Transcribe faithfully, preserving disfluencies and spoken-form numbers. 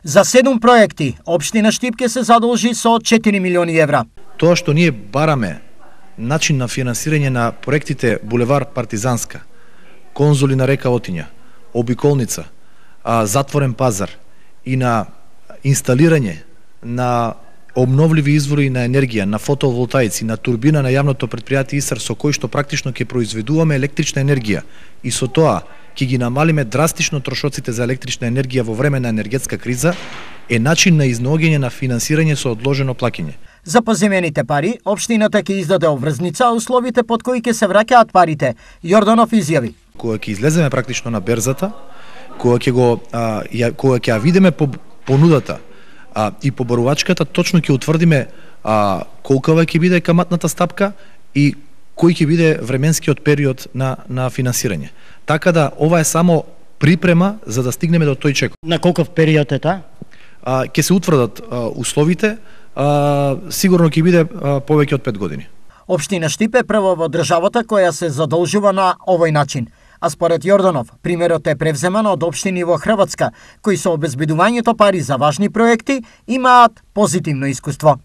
За седум проекти, општина Штип ќе се задолжи со четири милиони евра. Тоа што ние бараме начин на финансирање на проектите Булевар Партизанска, конзули на река Отиња, обиколница, затворен пазар и на инсталирање на обновливи извори на енергија, на фотоволтаици, на турбина на јавното претпријатие ИСАР, со кој што практично ќе произведуваме електрична енергија и со тоа ќе ги намалиме драстично трошоците за електрична енергија во време на енергетска криза, е начин на изнаоѓање на финансирање со одложено плаќање. За поземените пари, општината ќе издаде обврзница, а условите под кои ќе се враќаат парите, Јорданов изјави. Кога ќе излеземе практично на берзата, кога ќе го а, ја, кога ќе ја видиме по понудата а, и побарувачката, точно ќе утврдиме а, колкава ќе биде каматната стапка и кој ќе биде временскиот период на на финансирање. Така да ова е само припрема за да стигнеме до тој чек. На колков период е таа? Ќе се утврдат а, условите, а, сигурно ќе биде а, повеќе од пет години. Општина Штип е прва во државата која се задолжува на овој начин. А според Јорданов, примерот е превземан од општини во Хрватска, кои со обезбедувањето пари за важни проекти имаат позитивно искуство.